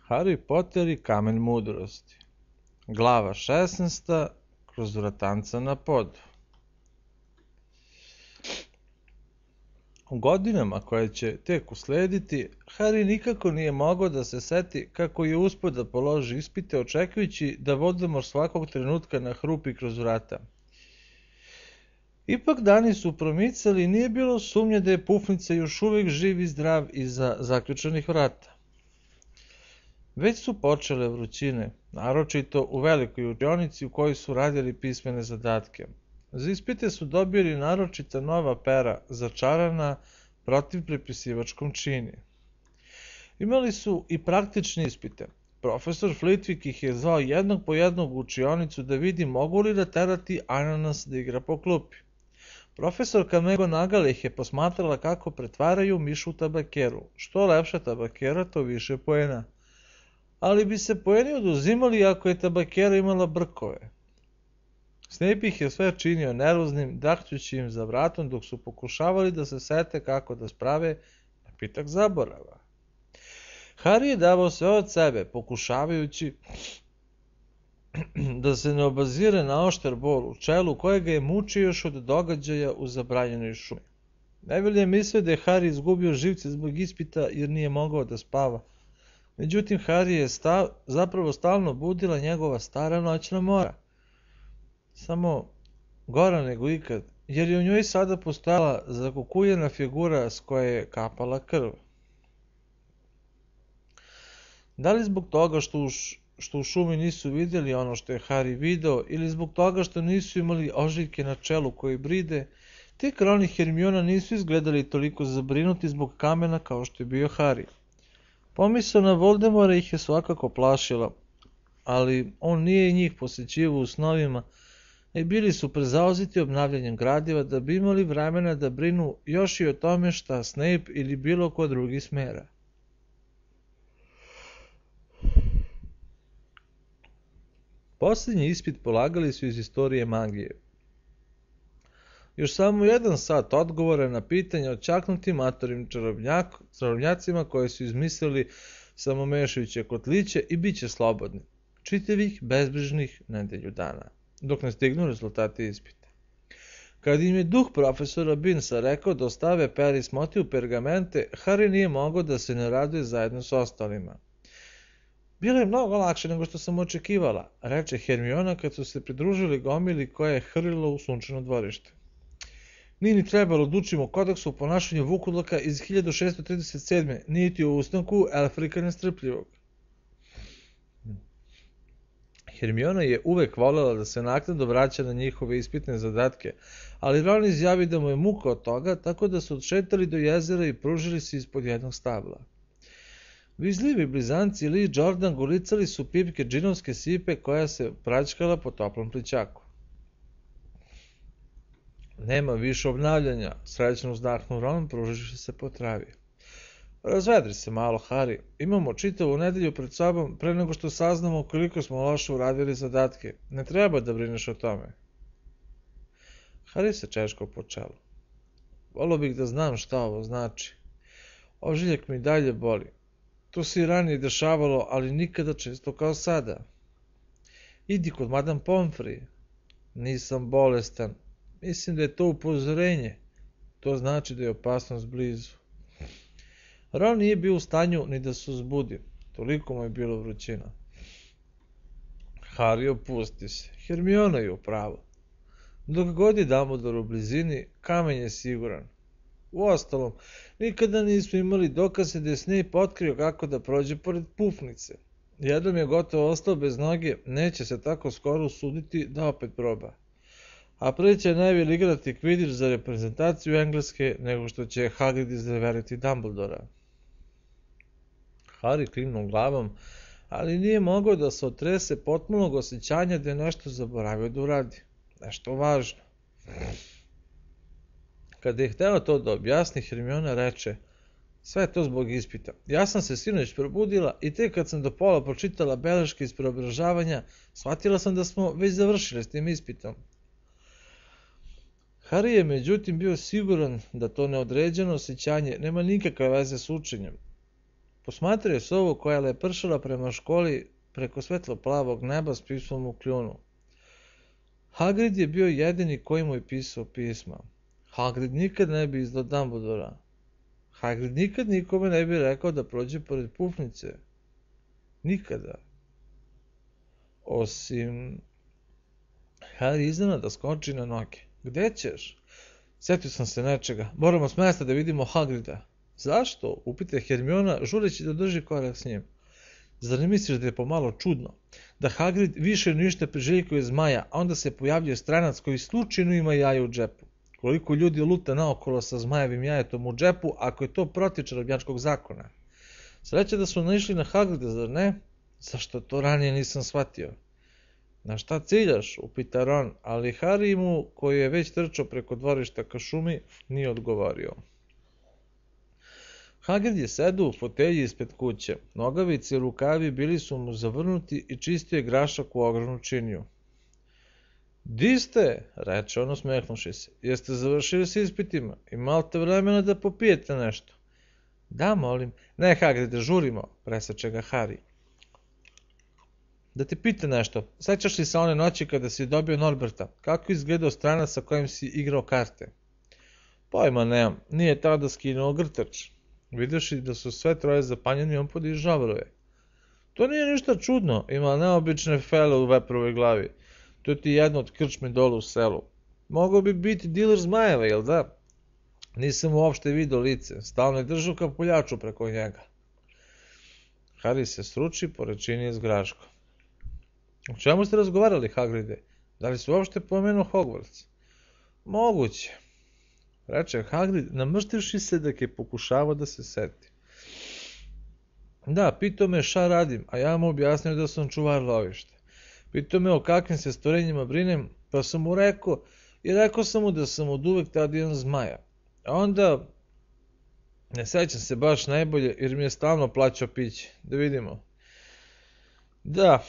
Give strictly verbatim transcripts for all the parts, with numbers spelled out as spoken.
Harry Potter i kamen mudrosti. Glava šesnaesta. Kroz vratanca na podu. U godinama koje će tek uslediti, Harry nikako nije mogao da se seti kako je uspeo da položi ispite očekujući da Voldemort svakog trenutka nahrupi kroz vrata. Ipak dani su promicali i nije bilo sumnje da je Pufnica još uvijek živ i zdrav iza zaključanih vrata. Već su počele vrućine, naročito u velikoj učionici u kojoj su radili pismene zadatke. Za ispite su dobili naročita nova pera, začarana protiv prepisivačkom čini. Imali su i praktične ispite. Profesor Flitwick ih je zvao jednog po jednog u učionicu da vidi mogu li da terati ananas da igra po klupi. Profesorka McGonagall ih je posmatrala kako pretvaraju mišu tabakeru. Što lepša tabakera, to više poena. Ali bi se poeni oduzimali ako je tabakera imala brkove. Snape ih je sve činio nervoznim, dahćući im za vratom dok su pokušavali da se sete kako da sprave napitak zaborava. Harry je davao sve od sebe, pokušavajući da se ne obazire na oštar bol u čelu kojega je mučio još od događaja u zabranjenoj šumi. Neville je mislio da je Harry izgubio živce zbog ispita jer nije mogao da spava. Međutim, Harry je stav, zapravo stalno budila njegova stara noćna mora. Samo gora nego ikad, jer je u njoj sada postojala zakukuljena figura s koje je kapala krv. Da li zbog toga što u, š, što u šumi nisu vidjeli ono što je Harry video, ili zbog toga što nisu imali ožiljke na čelu koji bride, tek Ron i Hermiona nisu izgledali toliko zabrinuti zbog kamena kao što je bio Harry. Pomisao na Voldemora ih je svakako plašila, ali on nije i njih posjećivao u snovima, i bili su prezauzeti obnavljanjem gradiva da bi imali vremena da brinu još i o tome šta Snape ili bilo ko drugi smera. Posljednji ispit polagali su iz istorije magije. Još samo jedan sat odgovora na pitanja o čaknutim matorim čarobnjak, čarobnjacima koje su izmislili samomešajuće kotliće i bit će slobodni. Čitavih, bezbrižnih nedelju dana, dok ne stignu rezultati ispita. Kad im je duh profesora Binsa rekao da ostave peri smoti u pergamente, Harry nije mogao da se ne raduje zajedno s ostalima. Bilo je mnogo lakše nego što sam očekivala, reče Hermiona kad su se pridružili gomili koja je hrlila u sunčano dvorište. Nije ni trebalo da učimo kodeksu o ponašanju Vukudlaka iz hiljadu šeststo trideset sedme, niti o ustanku Elfrika nestrpljivog. Hermiona je uvek voljela da se naknadno vraća na njihove ispitne zadatke, ali Ron izjavi da mu je muka od toga, tako da su odšetali do jezera i pružili se ispod jednog stabla. Vizljivi blizanci Lee i Jordan gulicali su pipke džinovske sipe koja se praćkala po toplom plićaku. Nema više obnavljanja, srećno uzdahnuo Ron, pruživši se po travi. Razvedri se malo, Harry. Imamo čitavu nedelju pred sobom pre nego što saznamo koliko smo loše uradili zadatke. Ne treba da brineš o tome. Harry se češkao po čelu. Volio bih da znam šta ovo znači. Ožiljak mi dalje boli. To se i ranije dešavalo, ali nikada često kao sada. Idi kod Madame Pomfrey. Nisam bolestan. Mislim da je to upozorenje. To znači da je opasnost blizu. Ron nije bio u stanju ni da se uzbudi. Toliko mu je bilo vrućina. Harry, opusti se. Hermiona je u pravu. Dok god je Dumbledore u blizini, kamen je siguran. Uostalom, nikada nismo imali dokaze da je Snape otkrio kako da prođe pored Pufnice. Jednom je gotovo ostao bez noge, neće se tako skoro usuditi da opet proba. A pre će Neville igrati Quidditch za reprezentaciju Engleske nego što će Hagrid izreveriti Dumbledora. Harry klimnuo glavom, ali nije mogao da se otrese potpunog osjećanja da je nešto zaboravio da uradi. Nešto važno. Kada je hteo to da objasni, Hermiona reče: sve je to zbog ispita. Ja sam se sinoć probudila i tek kad sam do pola pročitala beleške iz preobražavanja, shvatila sam da smo već završili s tim ispitom. Harry je međutim bio siguran da to neodređeno osjećanje nema nikakve veze s učenjem. Posmatraj sovu koja je lepršala prema školi preko svetlo-plavog neba s pismom u kljunu. Hagrid je bio jedini koji mu je pisao pisma. Hagrid nikad ne bi izdao Dumbledora. Hagrid nikad nikome ne bi rekao da prođe pored Pufnice. Nikada. Osim... Harry iznenada skoči na noge. Gde ćeš? Sjetio sam se nečega. Moramo s mesta da vidimo Hagrida. Zašto? Upita Hermiona, žureći da drži korak s njim. Zar ne misliš da je pomalo čudno? Da Hagrid više ništa priželjkuje zmaja, a onda se pojavljuje stranac koji slučajno ima jaje u džepu. Koliko ljudi luta naokolo sa zmajevim jajetom u džepu, ako je to protiv čarobnjačkog zakona? Sreća da su naišli na Hagrida, zar ne? Zašto to ranije nisam shvatio? Na šta ciljaš? Upita Ron, ali Harry mu, koji je već trčao preko dvorišta ka šumi, nije odgovorio. Hagrid je sedao u fotelji ispred kuće. Nogavice i rukavi bili su mu zavrnuti i čistio je grašak u ogromnu činiju. Di ste? Reče on usmehnuši se. Jeste završili s ispitima? Imate vremena da popijete nešto? Da, molim. Ne, Hagride, žurimo, preseče ga Harry. Da te pita nešto, sećaš li se one noći kada si dobio Norberta? Kako izgledao stranac sa kojim si igrao karte? Pojma nemam, nije tada skinuo grtač. Vidjevši da su sve troje zapanjeni, on podižavruje. To nije ništa čudno, ima neobične fele u veprovoj glavi. To ti je jedno od krčme dole u selu. Mogao bi biti diler zmajeva, jel da? Nisam uopšte vidio lice, stalno je držao kapuljaču preko njega. Harry se sruči pored činije s graškom. O čemu ste razgovarali, Hagride? Da li su uopšte pomenuo Hogwarts? Moguće, reče Hagrid, namrštivši se dok je pokušavao da se seti. Da, pitao me šta radim, a ja mu objasnio da sam čuvar lovišta. Pitao me o kakvim se stvorenjima brinem, pa sam mu rekao, i rekao sam mu da sam od uvek tada jedan zmaja. A onda, ne sećam se baš najbolje, jer mi je stalno plaćao piće. Da vidimo. Da,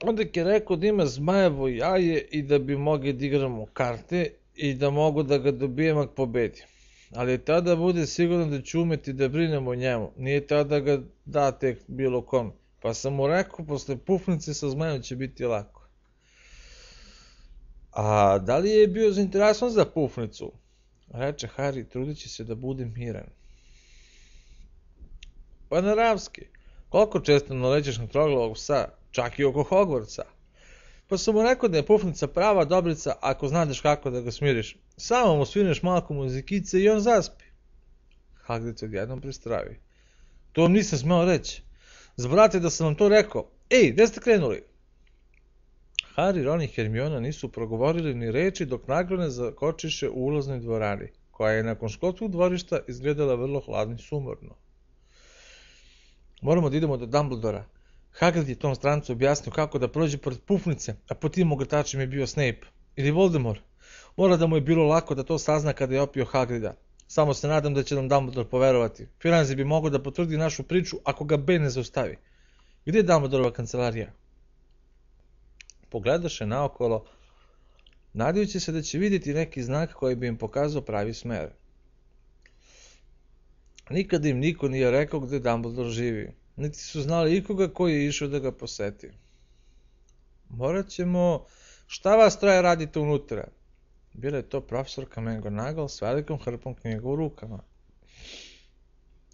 onda je rekao da ima zmajevo jaje i da bi mogli da igramo karte i da mogu da ga dobijem ako pobedim. Ali tada bude sigurno da ću umeti da brinem o njemu, nije tada ga da tek bilo kom. Pa sam mu rekao, posle Pufnice sa zmajom će biti lako. A da li je bio zainteresovan za Pufnicu? Reče Harry, trudeći se da bude miran. Pa naravski, koliko često nalećeš na troglavog psa, čak i oko Hogwartsa. Pa sam mu rekao da je Pufnica prava dobrica ako znaš kako da ga smiriš. Samo mu svineš malko muzikice i on zaspi. Hagrid se odjednom pristravi. To vam nisam smeo reći. Zaboravite da sam vam to rekao. Ej, gde ste krenuli? Harry, Ron i Hermiona nisu progovorili ni reči dok nagrone zakočiše u ulaznoj dvorani, koja je nakon školskog dvorišta izgledala vrlo hladno i sumorno. Moramo da idemo do Dumbledora. Hagrid je tom strancu objasnio kako da prođe pored Pufnice, a po tim ogrtačima je bio Snape. Ili Voldemort. Mora da mu je bilo lako da to sazna kada je opio Hagrida. Samo se nadam da će nam Dumbledore poverovati. Firenze bi mogao da potvrdi našu priču ako ga B ne zaustavi. Gdje je Dumbledorova kancelarija? Pogledaše naokolo, nadajući se da će vidjeti neki znak koji bi im pokazao pravi smer. Nikada im niko nije rekao gde Dumbledore živi, niti su znali ikoga koji je išao da ga poseti. Morat ćemo... Šta vas troje radite unutra? Bila je to profesorka McGonagall s velikom hrpom knjiga u rukama.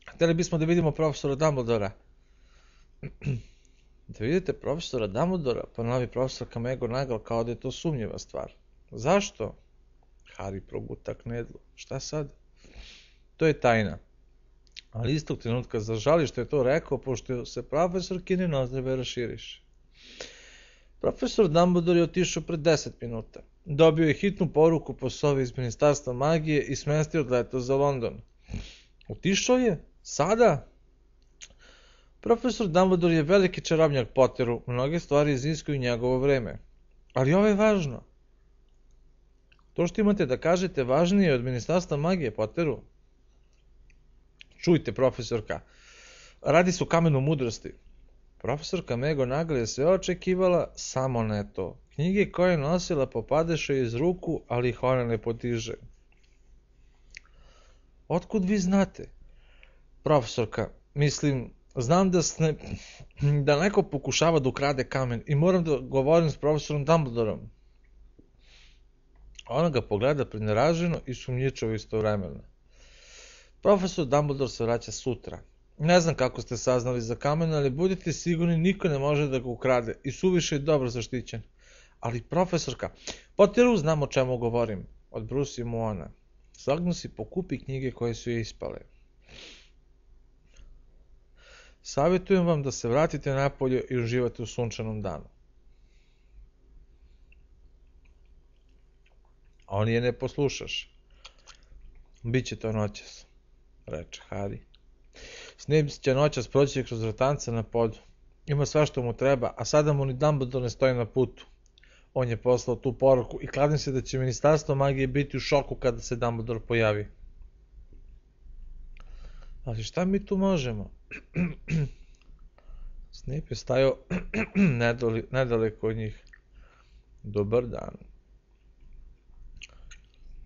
Hteli bismo da vidimo profesora Dumbledora. Da vidite profesora Dumbledora, ponovi profesorka McGonagall kao da je to sumnjiva stvar. Zašto? Harry proguta knedlu. Šta sad? To je tajna. Ali istog trenutka zažali što je to rekao, pošto se profesorkine nozdrve raširiše. Profesor Dumbledore je otišao pred deset minuta. Dobio je hitnu poruku po sobi iz Ministarstva magije i smestio odleto za London. Otišao je? Sada? Profesor Dumbledore je veliki čarobnjak Potteru, mnoge stvari iziskuju njegovo vreme. Ali ovo je važno. To što imate da kažete važnije od Ministarstva magije Potteru? Čujte, profesorka, radi se o kamenu mudrosti. Profesorka McGonagall je sve očekivala, samo ne to. Knjige koje je nosila popadeše iz ruku, ali ih ona ne potiže. Otkud vi znate? Profesorka, mislim, Znam da, sne, da neko pokušava da ukrade kamen i moram da govorim s profesorom Dumbledorom. Ona ga pogleda preneraženo i sumnjičavo istovremeno. Profesor Dumbledore se vraća sutra. Ne znam kako ste saznali za kamen, ali budite sigurni niko ne može da ga ukrade i suviše je dobro zaštićen. Ali profesorka, Potteru znam o čemu govorim, odbrusi mu ona. Slagnu si pokupi knjige koje su je ispale. Savjetujem vam da se vratite napolje i uživate u sunčanom danu. On je ne poslušaš. Biće to noćas, reče Harry. Snape će noćas proći kroz vratance na podu. Ima sve što mu treba, a sada mu ni Dumbledore ne stoji na putu. On je poslao tu poruku i kladim se da će Ministarstvo magije biti u šoku kada se Dumbledore pojavi. Ali šta mi tu možemo? Snape je stajao nedaleko od njih. Dobar dan.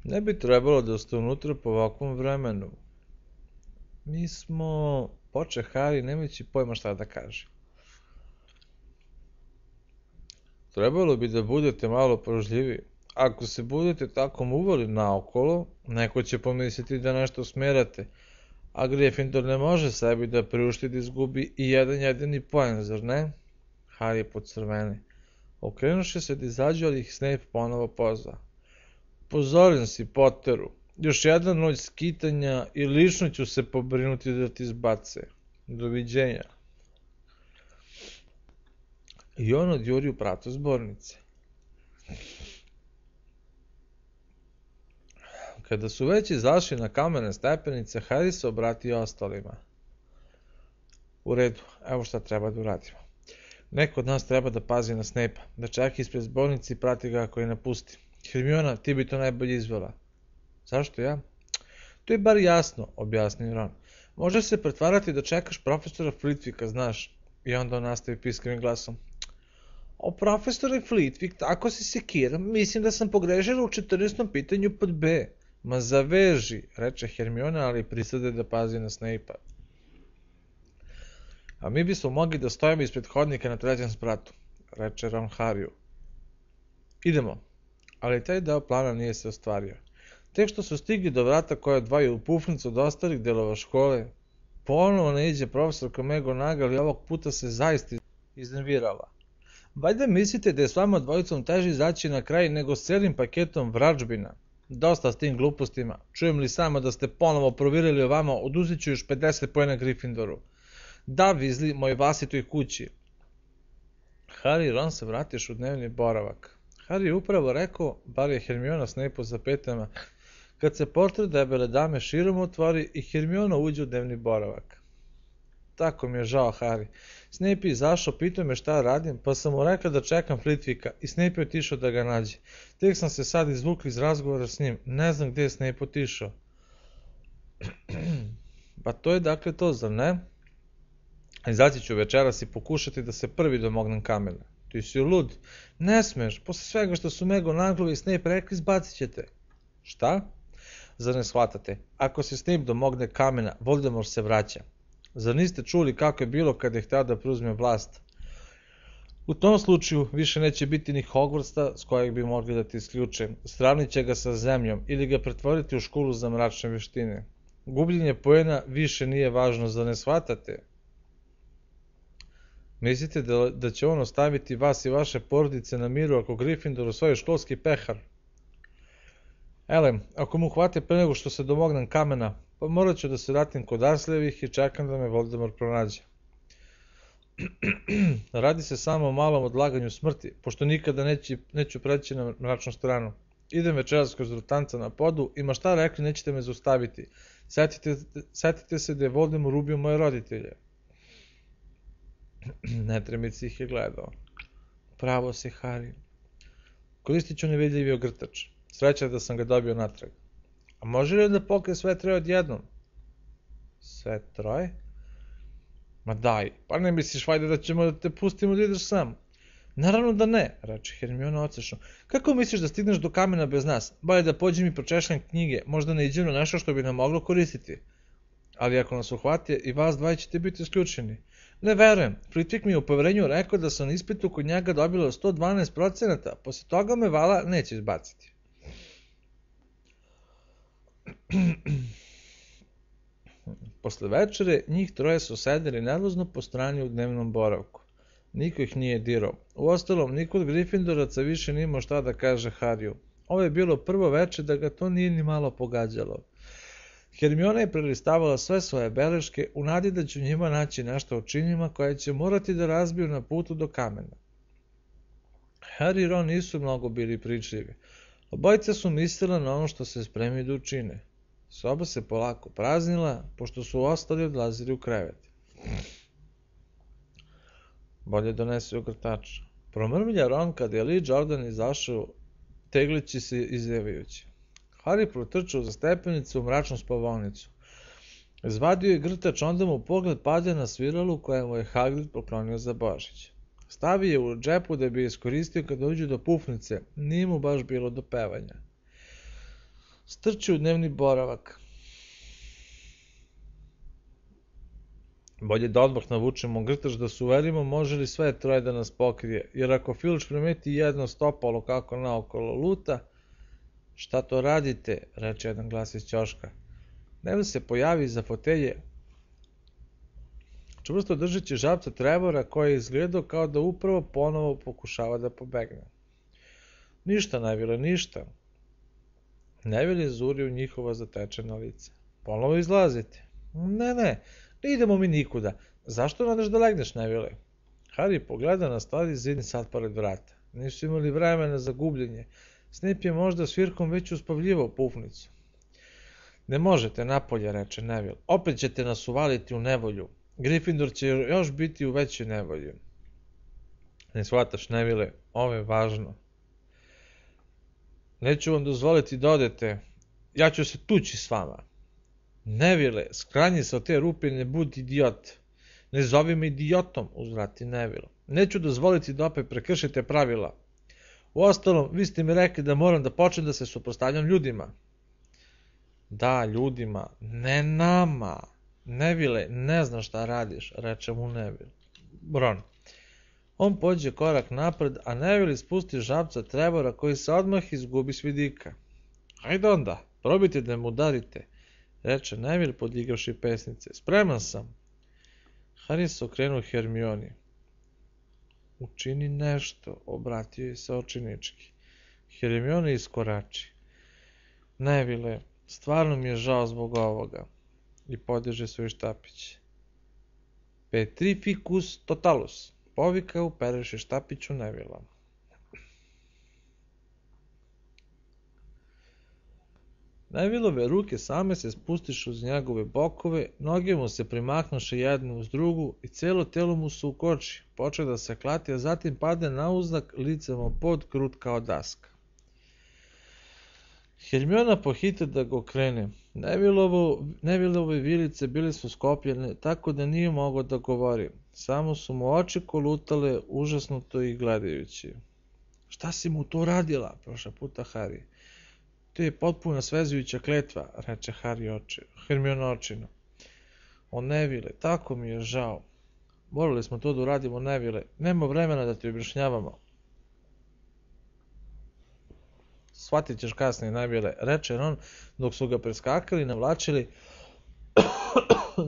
Ne bi trebalo da ste unutra po ovakvom vremenu. Mi smo... Poče Harry, nemajući pojma šta da kaže. Trebalo bi da budete malo pažljiviji. Ako se budete tako muvali naokolo, neko će pomisliti da nešto smerate, a Gryffindor ne može sebi da priušti da izgubi i jedan jedini poen, zar ne? Harry podcrveni. Okrenuše se da izađu, ali ih Snape ponovo pozva. Pozoren si, Potteru. Još jedna noć skitanja i lično ću se pobrinuti da ti izbace. Doviđenja. I on odjuri u pratu zbornice. Kada su već izašli na kamene stepenice, Harry se obratio ostalima. U redu, evo šta treba da uradimo. Neko od nas treba da pazi na Snape-a, da čeka ispred zbornice i prati ga ako je napusti. Hermiona, ti bi to najbolje izvela. Zašto ja? To je bar jasno, objasnio Ron. Može se pretvarati da čekaš profesora Flitwicka, znaš. I onda on nastavi piskrim glasom. O, profesore Flitwick, tako se sekiram, mislim da sam pogrešila u četrnaestom pitanju pod B. Ma zaveži, reče Hermiona, ali prisade da pazi na Snape-a. A mi bismo mogli da stojimo ispred hodnika na trećem spratu, reče Ron Harryu. Idemo. Ali taj deo plana nije se ostvario. Tek što su stigli do vrata koje odvajaju u pufnicu od ostalih delova škole, ponovo naiđe profesorka McGonagall, ali ovog puta se zaista iznervirala. Valjda mislite da je s vama dvojicom teže izaći na kraj nego s celim paketom vražbina. Dosta s tim glupostima. Čujem li samo da ste ponovo provjerili o vama, oduzet ću još pedeset poena Gryffindoru. Da, Weasley, moj vlastitoj kući. Harry i Ron se vratiš u dnevni boravak. Harry je upravo rekao, bar je Hermiona Snape za petama, kad se portret debele dame širom otvori i Hermiona uđe u dnevni boravak. Tako mi je žao, Harry. Snape je izašao, pitao me šta radim, pa sam mu rekao da čekam Flitwicka i Snape je otišao da ga nađe. Tek sam se sad izvukli iz razgovora s njim, ne znam gdje je Snape otišao. Pa to je dakle to, zar ne? Izaći ću večeras i pokušati da se prvi domognem kamena. Ti si lud. Ne smeš, posle svega što su McGonagall i Snape rekli, izbacit ćete. Šta? Zar ne shvatate? Ako se Snape domogne kamena, Voldemort se vraća. Zar niste čuli kako je bilo kada je hteo da preuzme vlast? U tom slučaju više neće biti ni Hogwartsa s kojeg bi mogli da ti isključe. Sravnit će ga sa zemljom ili ga pretvoriti u školu za mračne vještine. Gubljenje poena više nije važno, zar ne shvatate? Mislite da, da će on ostaviti vas i vaše porodice na miru ako Gryffindor osvoji školski pehar? Elem, ako mu hvate pre nego što se domognem kamena, pa morat ću da se vratim kod Dursleyevih i čekam da me Voldemort pronađe. Radi se samo o malom odlaganju smrti, pošto nikada neći, neću preći na mračnu stranu. Idem večeras kroz rutanca na podu i ma šta rekli nećete me zaustaviti. Setite, setite se da je Voldemort ubio moje roditelje. Netremic ih je gledao. Pravo si, Harry. Koristit ću nevidljivi ogrtač. Sreća da sam ga dobio natrag. A može li da pokrije sve troje odjednom? Sve troje? Ma daj, pa ne misliš vajda da ćemo da te pustimo da ideš sam? Naravno da ne, reče Hermiona odsešno. Kako misliš da stigneš do kamena bez nas? Bolje da pođem i pročešljam knjige, možda ne iđem na nešto što bi nam moglo koristiti. ali ako nas uhvate i vas dvoje ćete biti isključeni. Ne verujem, Flitwick mi je u poverenju rekao da sam na ispitu kod njega dobila sto dvanaest procenata, posle toga me vala neće izbaciti. Posle večere, njih troje su sedeli nervozno po strani u dnevnom boravku. Niko ih nije dirao. Uostalom, niko od Gryffindoraca više nije imao šta da kaže Harryu. Ovo je bilo prvo veče da ga to nije ni malo pogađalo. Hermiona je prelistavala sve svoje beleške u nadi da će u njima naći nešto o činima koje će morati da razbiju na putu do kamena. Harry i Ron nisu mnogo bili pričljivi. Obojica su mislila na ono što se spremi da učine. Soba se polako praznila, pošto su ostali odlazili u krevet. Bolje donesi ogrtača. Promrmlja Ron kad je Lee Jordan izašao, teglići se izjevajući. Harry protrčao za stepenicu u mračnu spavaonicu. Izvadio je grtač, onda mu pogled pade na sviralu koje mu je Hagrid poklonio za Božić. Stavi je u džepu da bi je iskoristio kad dođu do pufnice, nije mu baš bilo do pevanja. Strči u dnevni boravak. Bolje da odmah navučemo grtač da se uverimo može li sve troje da nas pokrije, jer ako Filč primeti jedno stopalo kako naokolo luta, šta to radite, reče jedan glas iz ćoška. Neville se pojavi iza fotelje, čvrsto držeći žabca Trevora koji je izgledao kao da upravo ponovo pokušava da pobegne. Ništa, Neville, ništa. Neville je zurio u njihova zatečena lica. Ponovo izlazite. Ne, ne, ne idemo mi nikuda. Zašto nadaš da legneš, Neville? Harry pogleda na stari zidni sad pored vrata. Nisu imali vremena za gubljenje. Snape je možda svirkom već uspavljivao pufnicu. Ne možete napolje, reče Neville. Opet ćete nas uvaliti u nevolju. Gryffindor će još biti u većoj nevolji. Ne shvataš, Neville, ovo je važno. Neću vam dozvoliti da odete. Ja ću se tući s vama. Neville, skranji se od te rupe i ne budi idiot. Ne zovi me idiotom, uzvrati Neville. Neću dozvoliti da opet prekršite pravila. Uostalom, vi ste mi rekli da moram da počnem da se suprotstavljam ljudima. Da, ljudima, ne nama. Neville, ne znam šta radiš, reče mu Neville. Ron. On pođe korak napred, a Neville ispusti žabca Trevora koji se odmah izgubi s vidika. Hajde onda, probajte da mu udarite, reče Neville podigavši pesnice. Spreman sam. Harry se okrenuo Hermioni. Učini nešto, obratio je se očinički. Hermiona iskorači. Neville, stvarno mi je žao zbog ovoga. I podiže svoj štapić. Petrificus totalus, povika upereši štapić u Nevilla. Nevillove ruke same se spustišu uz njegove bokove, noge mu se primaknuše jednu uz drugu i celo telo mu se ukoči, počeo da se klati, a zatim pade na uznak licem o pod krut kao daska. Hermiona pohite da ga okrene. Nevillove vilice bile su skopljene, tako da nije mogao da govori. Samo su mu oči kolutale, užasnuto ih gledajući. Šta si mu to radila? Prošla puta Harry. To je potpuno svezujuća kletva, reče Harry oči, Hermiona očino. O Neville, tako mi je žao. Morali smo to da uradimo, Neville. Nema vremena da ti objašnjavamo. Shvatit ćeš kasnije, Neville, reče Ron, dok su ga preskakali i navlačili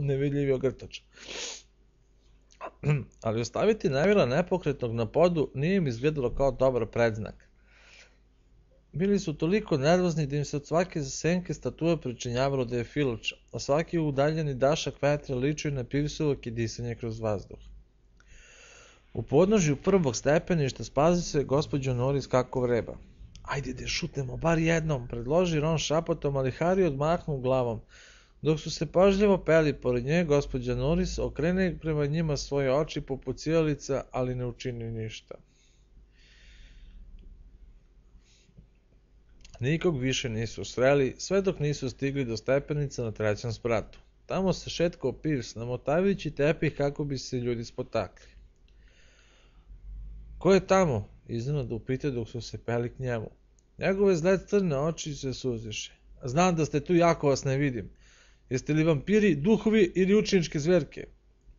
nevidljivi ogrtač. Ali ostaviti Nevilla nepokretnog na podu nije im izgledalo kao dobar predznak. Bili su toliko nervozni da im se od svake senke statue pričinjavalo da je Filč, a svaki udaljeni dašak vetra ličio na pivsovo kidisanje kroz vazduh. U podnožju prvog stepeništa spazi se gospođo Norris kako vreba. Ajde da šutnemo bar jednom, predloži Ron šapotom, ali Harry odmahnu glavom. Dok su se pažljivo peli pored nje, gospođa Norris okrene prema njima svoje oči poput sijalica, ali ne učini ništa. Nikog više nisu sreli, sve dok nisu stigli do stepenica na trećem spratu. Tamo se šetkao Pirs, namotavajući tepih kako bi se ljudi spotakli. Ko je tamo? Iznenada upita dok su se peli k njemu. Njegove zle crne oči se suziše. Znam da ste tu, jako vas ne vidim. Jeste li vampiri, duhovi ili učeničke zverke?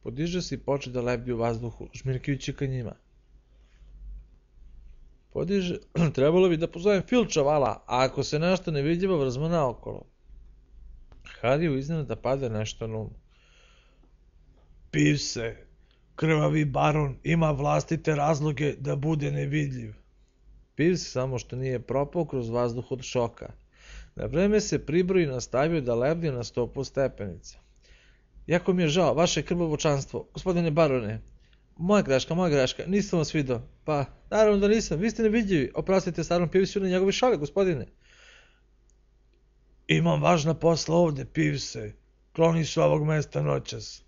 Podiže se i poče da lebdi u vazduhu, žmirkajući ka njima. Podiže, trebalo bi da pozovem Filča, vala, a ako se nešto nevidljivo vrzma naokolo. Hariju iznenada pada nešto na um. Pivse, krvavi baron ima vlastite razloge da bude nevidljiv. Pivs samo što nije propao kroz vazduh od šoka. Na vreme se pribroji i nastavio da lebdi na stopu stepenica. Jako mi je žao, vaše krvovočanstvo, gospodine barone. Moja greška, moja greška, nisam vas vidio. Pa, naravno da nisam, vi ste nevidljivi. Oprostite starom Pivsu na njegove šale, gospodine. Imam važna posla ovde, Pivse. Kloni su ovog mesta noćas.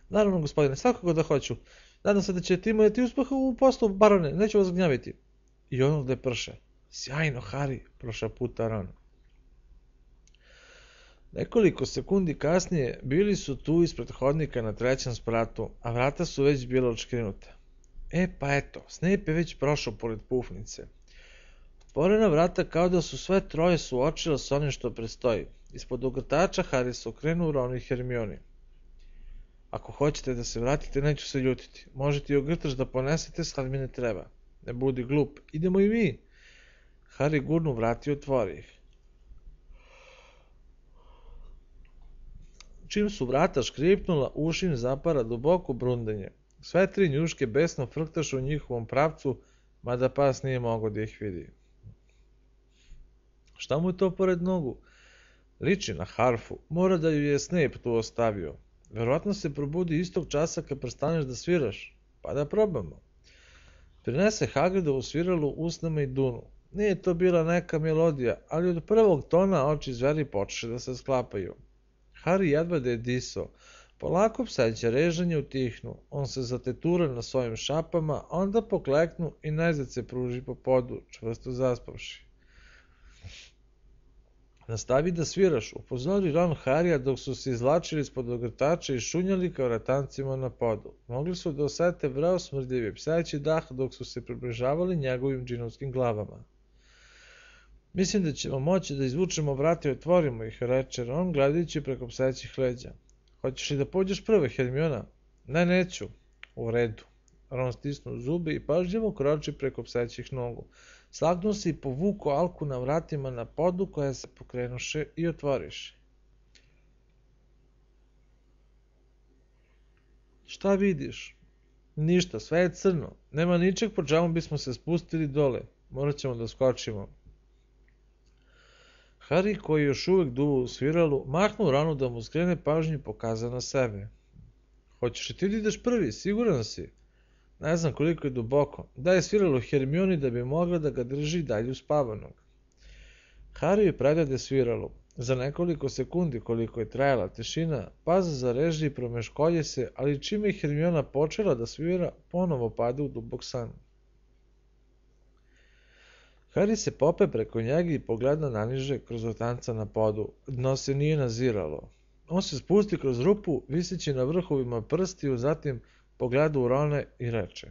Naravno, gospodine, svakako da hoću. Nadam se da ćete imati uspeha u poslu, barone, neću vas gnjaviti. I ono gde prše. Sjajno, Hari, prošaputa Ron. Nekoliko sekundi kasnije bili su tu ispred hodnika na trećem spratu, a vrata su već bila odškrinuta. E pa eto, Snape je već prošao pored pufnice. Otvorena vrata kao da su sve troje suočila s onim što predstoji. Ispod ogrtača Harry se okrenuo Ron i Hermioni. Ako hoćete da se vratite, neću se ljutiti. Možete i ogrtač da ponesete, sad mi ne treba. Ne budi glup, idemo i mi. Harry gurnu vrati i otvori ih. Čim su vrata škripnula, uši im zapara duboko brundanje. Sve tri njuške besno frktašu u njihovom pravcu, mada pas nije mogao da ih vidi. Šta mu je to pored nogu? Liči na harfu, mora da ju je Snape tu ostavio. Verovatno se probudi istog časa kad prestaneš da sviraš, pa da probamo. Prinese Hagridovu sviralu usnama i dunu. Nije to bila neka melodija, ali od prvog tona oči zveri počeše da se sklapaju. Harry jedva da je disao. Polako pseće režanje utihnu. On se zatetura na svojim šapama, onda pokleknu i najzad se pruži po podu, čvrsto zaspavši. Nastavi da sviraš, upozori Ron Harrya dok su se izvlačili ispod ogrtača i šunjali kao ratancima na podu. Mogli su da osete vreo smrdljivi pseći dah dok su se približavali njegovim džinovskim glavama. Mislim da ćemo moći da izvučemo vrata i otvorimo ih, reče Ron gledajući preko psećih leđa. Hoćeš li da pođeš prve, Hermiona? Ne, neću. U redu. Ron stisnuo zube i pažljivo kroči preko psećih nogu. Slagnuo se i povuko Alku na vratima na podu koja se pokrenuše i otvoriše. Šta vidiš? Ništa, sve je crno. Nema ničeg po čemu bismo se spustili dole. Morat ćemo da skočimo. Harry, koji još uvek duva u sviralu, mahnuo Ronu da mu skrene pažnju i pokaza na sebe. Hoćeš li ti da ideš prvi, siguran si? Ne znam koliko je duboko. Daj sviralu Hermioni da bi mogla da ga drži dalje uspavanog. Harry je predade sviralu. Za nekoliko sekundi koliko je trajala tišina, Paz zareži i promeškolje se, ali čime je Hermiona počela da svira, ponovo pada u dubok san. Harry se pope preko njega i pogleda naniže kroz otanca na podu. Dno se nije naziralo. On se spusti kroz rupu, viseći na vrhovima prstiju, zatim pogleda u Rona i reče.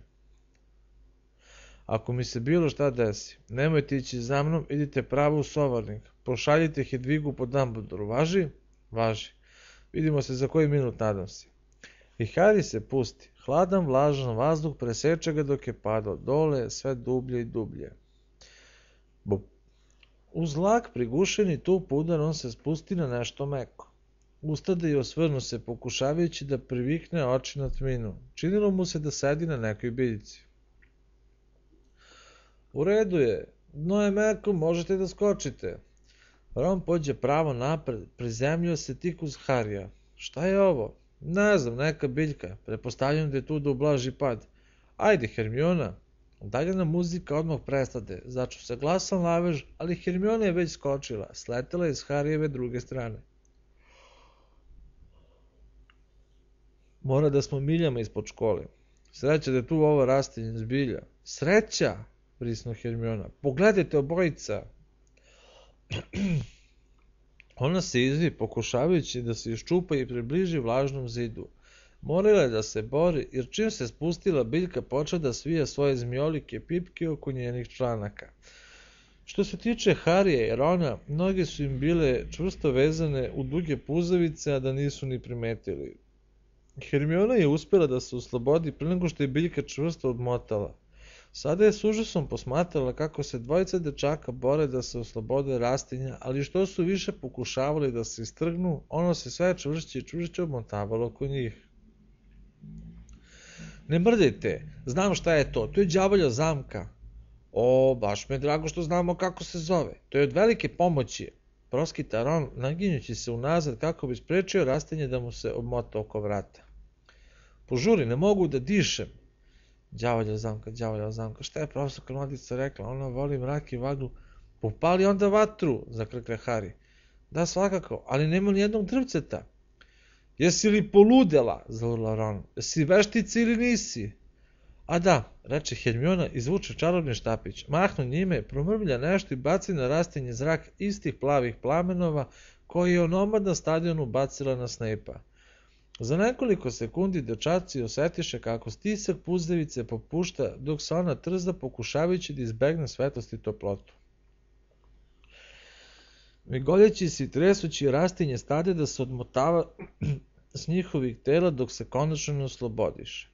Ako mi se bilo šta desi, nemojte ići za mnom, idite pravo u sovarnik. Pošaljite Hedvigu po Dumbledoru. Važi? Važi. Vidimo se za koji minut, nadam se. I Harry se pusti. Hladan, vlažan vazduh preseče ga dok je padao dole, sve dublje i dublje. Bup. Uz lak prigušeni tup udar on se spusti na nešto meko. Ustade i osvrnu se, pokušavajući da privikne oči na tminu. Činilo mu se da sedi na nekoj biljci. U redu je, dno je meko, možete da skočite. Ron pođe pravo napred, prizemljio se tik uz Harrya. Šta je ovo? Ne znam, neka biljka, pretpostavljam da je tu da ublaži pad. Ajde, Hermiona. Udaljena muzika odmah prestade, začu se glasan lavež, ali Hermiona je već skočila, sletela iz Harryjeve druge strane. Mora da smo miljama ispod škole. Sreća da je tu ovo rastinje zbilja. Sreća, prisno Hermiona. Pogledajte obojica. Ona se izvi, pokušavajući da se iščupa i približi vlažnom zidu. Morala je da se bori, jer čim se spustila biljka počela da svija svoje zmijolike pipke oko njenih članaka. Što se tiče Harija i Rona, noge su im bile čvrsto vezane u duge puzavice, a da nisu ni primetili. Hermiona je uspjela da se oslobodi prije nego što je biljka čvrsto odmotala. Sada je s užasom posmatrala kako se dvojica dečaka bore da se oslobode rastinja, ali što su više pokušavali da se istrgnu, ono se sve čvršće i čvršće odmotavalo oko njih. Ne mrdajte, znam šta je to, to je đavolja zamka. O, baš mi je drago što znamo kako se zove, to je od velike pomoći. Proskita Ron, naginjući se unazad kako bi sprečio rastinje da mu se obmota oko vrata. Požuri, ne mogu da dišem. Đavolja zamka, đavolja zamka, šta je profesorka Mladica rekla, ona voli mrak i vaglu. Popali onda vatru, zakrkle Harry. Da, svakako, ali nema ni jednog drvceta. Jesi li poludela, zaurla Ron, jesi veštica ili nisi? A da, reče Hermiona, izvuče čarobni štapić, mahnu njime, promrmlja nešto i baci na rastinje zrak istih plavih plamenova koji je onomad na stadionu bacila na Snape-a. Za nekoliko sekundi dečaci osetiše kako stisak puzavice popušta dok se ona trzda pokušavajući da izbegne svetlost i toplotu. Migoljeći se i tresući rastinje stade da se odmotava s njihovih tela dok se konačno ne oslobodiše.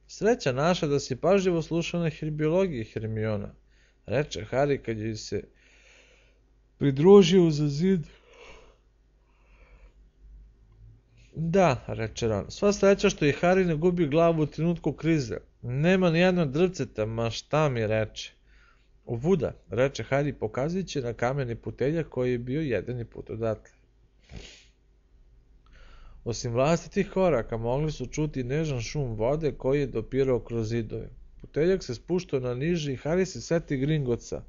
Sreća naša da si pažljivo slušao na herbiologiji, Hermiona, reče Harry kad joj se pridružio za zid. Da, reče Ron, sva sreća što i Harry ne gubi glavu u trenutku krize. Nema ni jedno drvceta, ma šta mi reče. Ovuda, reče Harry pokazujući na kameni puteljak koji je bio jedini put odatle. Osim vlastitih koraka mogli su čuti nežan šum vode koji je dopirao kroz zidove. Puteljak se spuštao na niži i Harry se seti Gringotsa.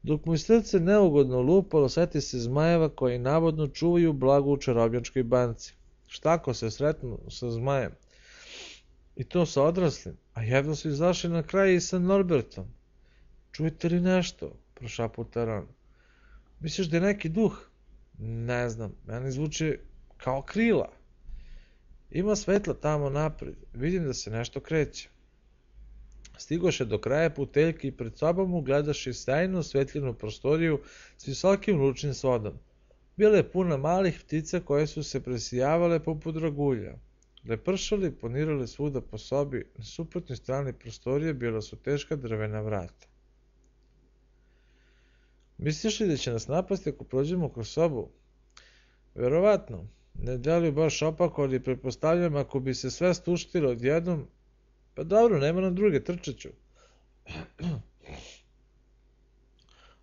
Dok mu je srce neugodno lupalo, seti se zmajeva koji navodno čuvaju blago u čarobnjačkoj banci. Šta ako se sretnu sa zmajem? I to sa odraslim, a jedno su izašli na kraj i sa Norbertom. Čujete li nešto? Prošaputa Ron. Misliš da je neki duh? Ne znam, meni zvuči kao krila. Ima svetla tamo napred, vidim da se nešto kreće. Stigoše do kraja puteljke i pred sobom ugledaše sjajnu osvetljenu prostoriju s visokim lučnim svodom. Bila je puna malih ptica koje su se presijavale poput dragulja. Lepršali ponirali svuda po sobi, na suprotnoj strani prostorije bila su teška drvena vrata. Misliš li da će nas napasti ako prođemo kroz sobu? Verovatno. Ne deluju baš opako, ali pretpostavljam ako bi se sve stuštilo odjednom. Pa dobro, nema nam druge, trčeću.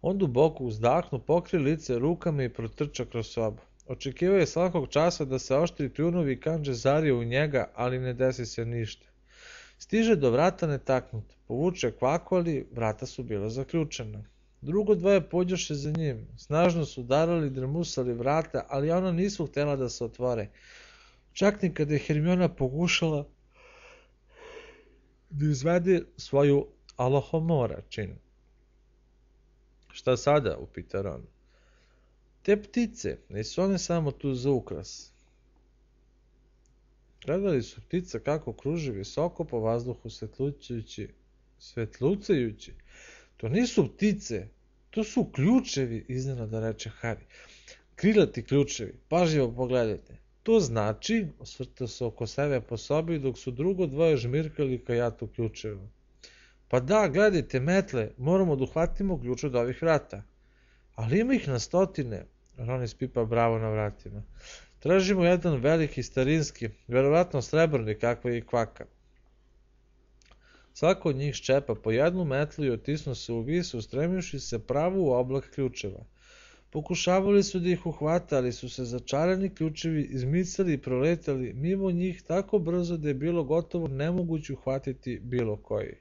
On duboko uzdahnu, pokri lice rukama i protrča kroz sobu. Očekivao je svakog časa da se oštri kljunovi i kanđe zarije u njega, ali ne desi se ništa. Stiže do vrata netaknut, povuče kvaku, ali vrata su bila zaključena. Drugo dvoje pođoše za njim, snažno su udarali i drmusali vrata, ali ona nisu htjela da se otvore. Čak ni kada je Hermiona pokušala da izvede svoju alohomora čin. Šta sada, upita Ron. Te ptice, nisu one samo tu za ukras. Gledali su ptica kako kruži visoko po vazduhu svetlucajući, svetlucajući. To nisu ptice, to su ključevi, iznenada reče Harry. Krilati ključevi, pažljivo pogledajte. To znači, osvrtao se oko sebe po sobi dok su drugo dvoje žmirkali kajatu ključeva. Pa da, gledajte, metle, moramo da uhvatimo ključ od ovih vrata. Ali ima ih na stotine, Ron ispipa bravo na vratima. Tražimo jedan veliki starinski, verovatno srebrni kakva je i kvaka. Svako od njih ščepa po jednu metlu i otisnu se u vis, ustremivši se pravo u oblak ključeva. Pokušavali su da ih uhvata, ali su se začarani ključevi izmicali i proletali mimo njih tako brzo da je bilo gotovo nemoguće uhvatiti bilo koji.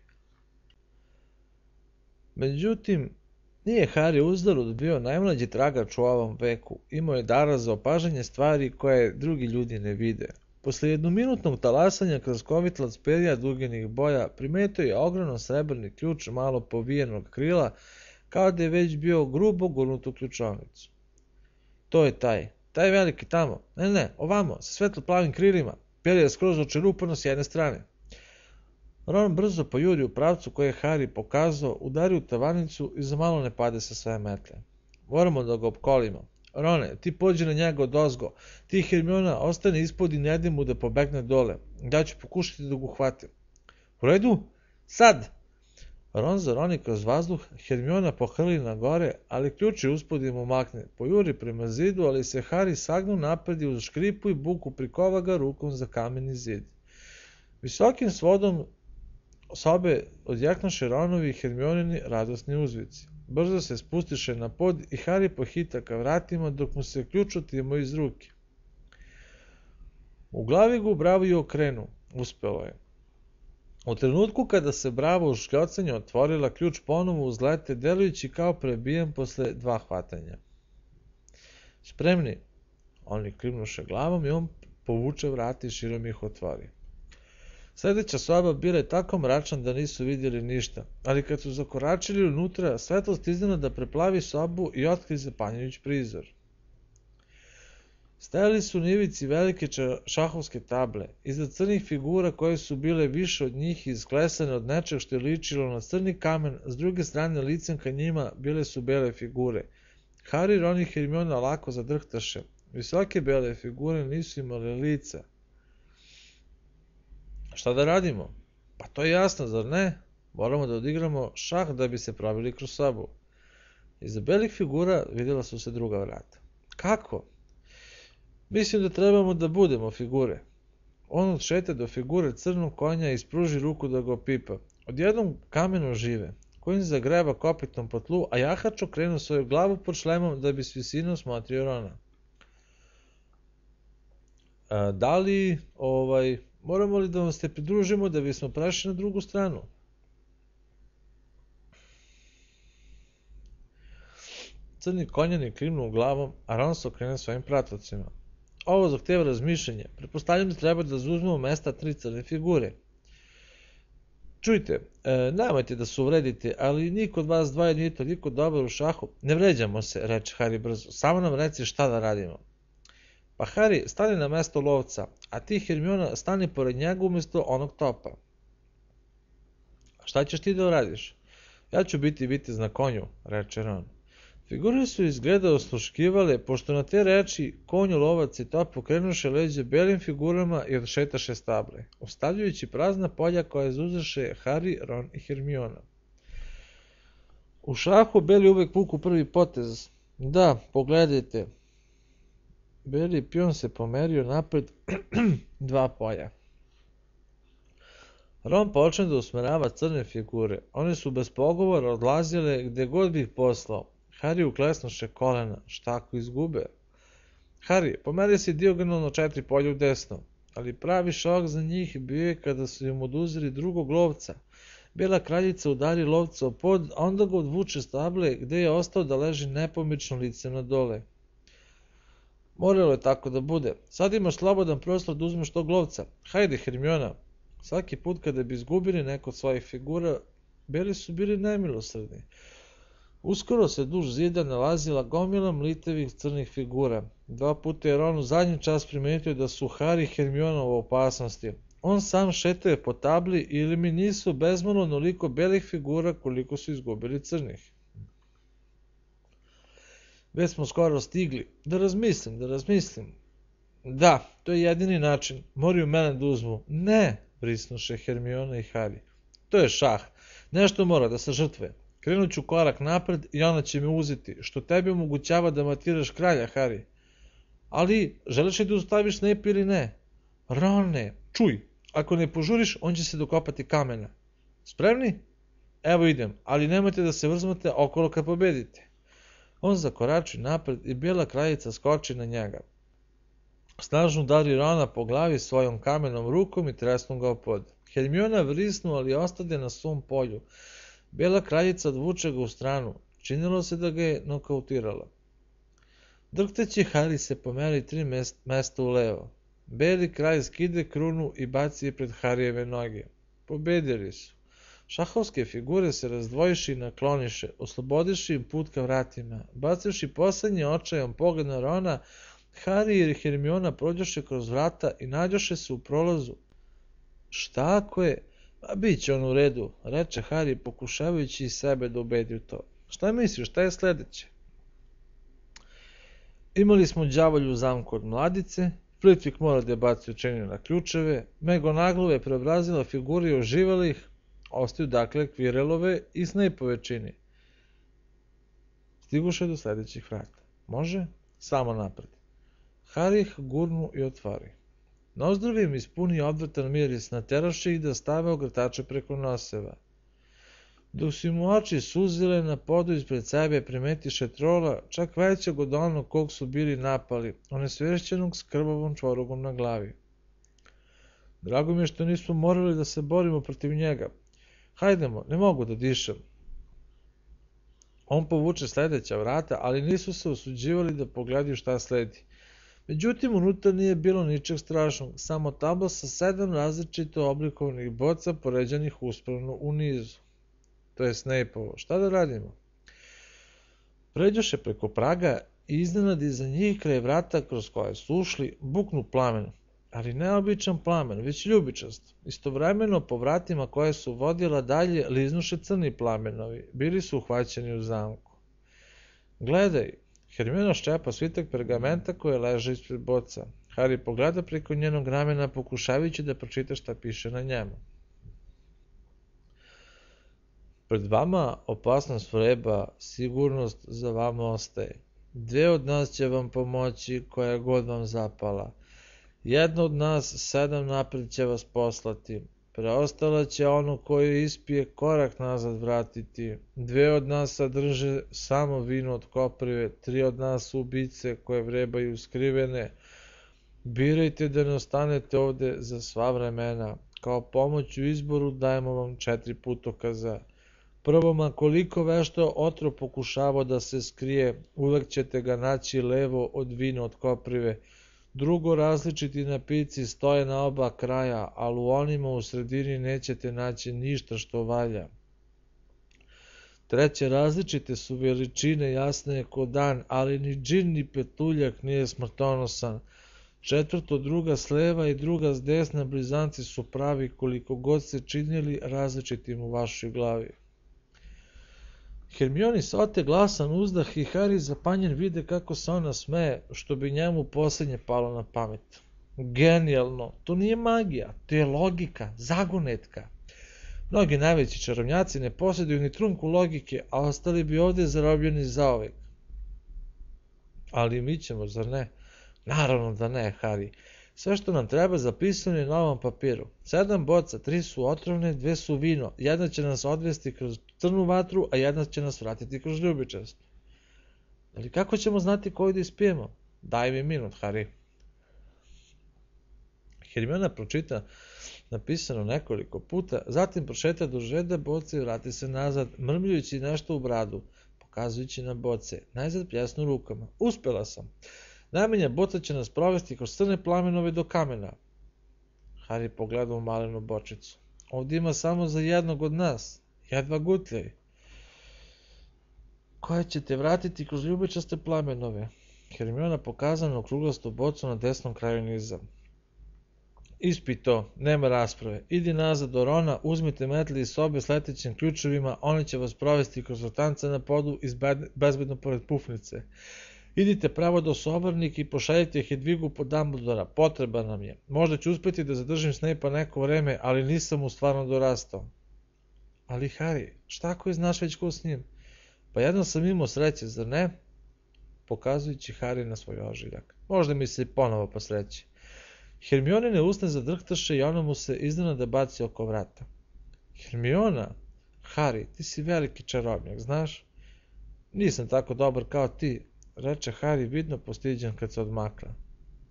Međutim, nije Harry uzalud bio najmlađi tragač u ovom veku, imao je dara za opažanje stvari koje drugi ljudi ne vide. Posle jednominutnog talasanja kroz kovitlac perja dugenih boja, primetio je ogromno srebrni ključ malo povijenog krila, kao da je već bio grubo gurnut u ključovnicu. To je taj, taj veliki tamo, ne ne, ovamo, sa svetlo plavim krilima, perje je skroz očerupano s jedne strane. Ron brzo pojuri u pravcu koji je Harry pokazao, udari u tavanicu i za malo ne pade sa svoje metle. Moramo da ga opkolimo. Rone, ti pođi na njega odozgo. Ti, Hermiona, ostane ispod i ne daj mu da pobegne dole. Ja ću pokušati da ga uhvatim. U redu? Sad! Ron zaroni kroz vazduh, Hermiona pohrli na gore, ali ključ je uspod im umakne. Pojuri prema zidu, ali se Harry sagnu napred i uz škripu i buku prikova ga rukom za kameni zid. Visokim svodom sobe odjeknuše Ronovi i Hermionini radosni uzvici. Brzo se spustiše na pod i Harry pohita ka vratima dok mu se ključ otimo iz ruke. U glavi ga u bravu i okrenu. Uspelo je. U trenutku kada se brava u škljocanju otvorila, ključ ponovo uzlete, delujući kao prebijen posle dva hvatanja. Spremni? Oni klimnuše glavom i on povuče vrata i širom ih otvori. Sledeća soba bila je tako mračna da nisu vidjeli ništa, ali kad su zakoračili unutra, svetlost iznenada preplavi sobu i otkri zapanjujući prizor. Stajali su na ivici velike šahovske table, iza crnih figura koje su bile više od njih i isklesane od nečeg što je ličilo na crni kamen, s druge strane licem ka njima bile su bele figure. Harry, Ron i Hermiona lako zadrhtaše. Visoke bele figure nisu imale lica. Šta da radimo? Pa to je jasno, zar ne? Moramo da odigramo šah da bi se probili kroz sobu. Iza belih figura vidjela su se druga vrata. Kako? Mislim da trebamo da budemo figure. On odšete do figure crnog konja i ispruži ruku da ga opipa. Odjednom kamen ožive. Konj zagreba kopitom po tlu, a jahač okrenu svoju glavu pod šlemom da bi s visine osmotrio Rona. A, da li, ovaj, moramo li da vam se pridružimo da bismo prešli na drugu stranu? Crni konjani klimnu glavom, a Ron se okrene svojim pratocima. Ovo zahteva razmišljanje. Pretpostavljam da treba da zauzmemo mesta tri crne figure. Čujte, e, nemojte da se uvredite, ali niko od vas dvoje nije toliko dobar u šahu. Ne vređamo se, reče Harry brzo. Samo nam reci šta da radimo. Pa Harry, stani na mesto lovca, a ti, Hermiona, stani pored njega umjesto onog topa. Šta ćeš ti da uradiš? Ja ću biti vitez na konju, reče Ron. Figure su izgleda osluškivale, pošto na te reči konju, lovac i top pokrenuše leđe belim figurama i odšetaše stable, ostavljajući prazna polja koje zauzeše Harry, Ron i Hermiona. U šahu beli uvek vuku prvi potez. Da, pogledajte. Beli pion se pomerio napred dva polja. Ron počne da usmerava crne figure. One su bez pogovora odlazile gde god bi ih poslao. Harry uklesnuše kolena. Šta ako izgube? Harry, pomeri se dijagonalno četiri polja u desno. Ali pravi šok za njih bio je kada su im oduzeli drugog lovca. Bela kraljica udari lovca u pod, a onda ga odvuče stable gde je ostao da leži nepomično licem na dole. Moralo je tako da bude. Sad imaš slobodan prostor da uzmeš tog lovca. Hajde, Hermiona. Svaki put kada bi izgubili neko od svojih figura, beli su bili nemilosrdni. Uskoro se duž zida nalazila gomila mlitevih crnih figura. Dva puta je Ron u zadnji čas primetio da su Harry i Hermiona u opasnosti. On sam šetao po tabli ili mi nisu bezmalo onoliko belih figura koliko su izgubili crnih. Već smo skoro stigli. Da razmislim, da razmislim. Da, to je jedini način. Moraju mene da uzmu. Ne, brisnuše Hermiona i Harry. To je šah. Nešto mora da se žrtve. Krenut ću korak napred i ona će me uzeti, što tebi omogućava da matiraš kralja, Harry. Ali, želiš li da ustaviš Snape ili ne? Rone, čuj, ako ne požuriš, on će se dokopati kamena. Spremni? Evo idem, ali nemojte da se vrzmate okolo kad pobedite. On zakorači napred i bijela kraljica skoči na njega. Snažno udari Rona po glavi svojom kamenom rukom i tresnu ga pod. Hermiona vrisnu, ali ostade na svom polju. Bela kraljica odvuče ga u stranu. Činilo se da ga je nokautirala. Drhtajući, Harry se pomeri tri mesta u levo. Beli kralj skide krunu i baci je pred Harijeve noge. Pobedili su. Šahovske figure se razdvojiše i nakloniše, oslobodiše im put ka vratima. Bacivši poslednji očajan pogled na Rona, Harry i Hermiona prođoše kroz vrata i nađoše se u prolazu. Šta ako je? A bit će on u redu, reče Harry pokušavajući i sebe da ubedi u to. Šta misliš, šta je sledeće? Imali smo đavolju u zamku od mladice, Flitwick mora da je baci učenje na ključeve, McGonagall je preobrazila figure i oživali ih, ostaju dakle Quirrellove i Snapeove čini. Stiguše do sledećih vrata. Može? Samo napred. Harry ih gurnu i otvari. Nozdrvi im ispunio odvratan miris, nateraše ih da stave ogrtače preko noseva. Dok su im oči suzile, na podu ispred sebe primetiše trola, čak većeg od onog kog su bili napali, onesvešćenog s krvavom čvorogom na glavi. Drago mi je što nismo morali da se borimo protiv njega. Hajdemo, ne mogu da dišem. On povuče sledeća vrata, ali nisu se osuđivali da pogledaju šta sledi. Međutim, unutra nije bilo ničeg strašnog, samo tabla sa sedam različito oblikovanih boca poređanih uspravno u nizu. To je Snapeovo. Šta da radimo? Pređoše preko praga i iznenadi za njih kraj vrata kroz koje su ušli buknu plamen, ali ne običan plamen, već ljubičast. Istovremeno po vratima koje su vodila dalje liznuše crni plamenovi, bili su uhvaćeni u zamku. Gledaj, Hermiona ščepa svitak pergamenta koje leže ispred boca. Harry pogleda preko njenog ramena pokušavajući da pročita šta piše na njemu. Pred vama opasnost vreba, sigurnost za vama ostaje. Dve od nas će vam pomoći koja god vam zapala. Jedna od nas sedam napred će vas poslati. Preostala će ono koje ispije korak nazad vratiti. Dve od nas sadrže samo vino od koprive, tri od nas su ubice koje vrebaju skrivene. Birajte da ne ostanete ovde za sva vremena. Kao pomoć u izboru dajemo vam četiri putokaza. Prvo, ma koliko vešto otrov pokušavao da se skrije, uvek ćete ga naći levo od vina od koprive. Drugo, različiti napici stoje na oba kraja, ali u onima u sredini nećete naći ništa što valja. Treće, različite su veličine, jasne ko dan, ali ni džin ni petuljak nije smrtonosan. Četvrto, druga s leva i druga s desna blizanci su pravi koliko god se činili različitim u vašoj glavi. Hermioni se ote glasan uzdah i Harry zapanjen vide kako se ona smeje, što bi njemu posljednje palo na pamet. Genijalno, to nije magija, to je logika, zagonetka. Mnogi najveći čarovnjaci ne posjeduju ni trunku logike, a ostali bi ovde zarobljeni zaovek. Ali mi ćemo, zar ne? Naravno da ne, Harry. Sve što nam treba zapisano je na ovom papiru. Sedam boca, tri su otrovne, dve su vino. Jedna će nas odvesti kroz crnu vatru, a jedna će nas vratiti kroz ljubičast. Ali kako ćemo znati koju da ispijemo? Daj mi minut, Harry. Hermiona pročita napisano nekoliko puta, zatim prošeta do žeda boce i vrati se nazad, mrmljujući nešto u bradu, pokazujući na boce, najzad pljasnu rukama. Uspela sam. Najmanja boca će nas provesti kroz crne plamenove do kamena. Harry pogleda u malenu bočicu. Ovdje ima samo za jednog od nas. Jedva gutljaj. Koje ćete vratiti kroz ljubičaste plamenove? Hermiona pokazala na okruglastu bocu na desnom kraju niza. Ispi to, nema rasprave. Idi nazad do Rona, uzmite metli iz sobe s letećim ključevima, oni će vas provesti kroz vrtance na podu i bezbedno pored pufnice. Idite pravo do Sobornika i pošaljite Hedvigu po Dumbledora, potreba nam je. Možda ću uspjeti da zadržim Snape-a neko vreme, ali nisam mu stvarno dorastao. Ali Harry, šta ako je znaš već ko s njim? Pa jednom sam imao sreće, zar ne? Pokazujući Harry na svoj ožiljak. Možda mi se i ponovo posreći. Hermionine usne zadrhtaše i ona mu se iznenada baci oko vrata. Hermiona? Harry, ti si veliki čarobnjak, znaš? Nisam tako dobar kao ti, reče Harry vidno postiđen kad se odmakla.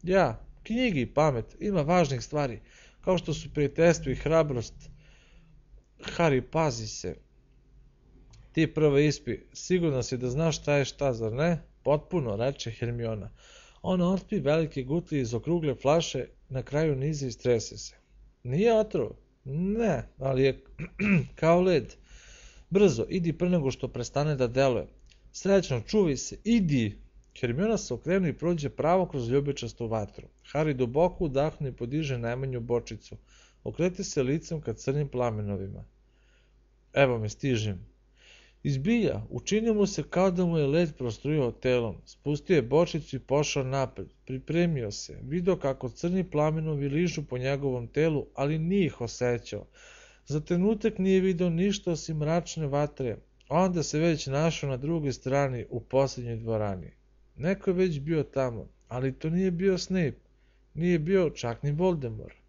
Ja, knjigi i pamet, ima važnih stvari, kao što su prijateljstvo i hrabrost. Harry, pazi se. Ti prvo ispi, sigurno si da znaš šta je šta, zar ne? Potpuno, reče Hermiona. Ona otpi velike gutlje iz okrugle flaše, na kraju niza i strese se. Nije otrov? Ne, ali je kao led. Brzo, idi pre nego što prestane da deluje. Srećno, čuvaj se, idi! Hermiona se okrene i prođe pravo kroz ljubičastu vatru. Harry duboko udahne i podiže najmanju bočicu. okreti se licem ka crnim plamenovima. Evo me, stižem. Izbilja, učinio mu se kao da mu je led prostrujao telom. Spustio je bočicu i pošao napred. Pripremio se. Video kako crni plamenovi ližu po njegovom telu, ali nije ih osjećao. Za trenutak nije video ništa osim mračne vatre. Onda se već našao na drugoj strani u posljednjoj dvorani. Neko je već bio tamo, ali to nije bio Snape. Nije bio čak ni Voldemort.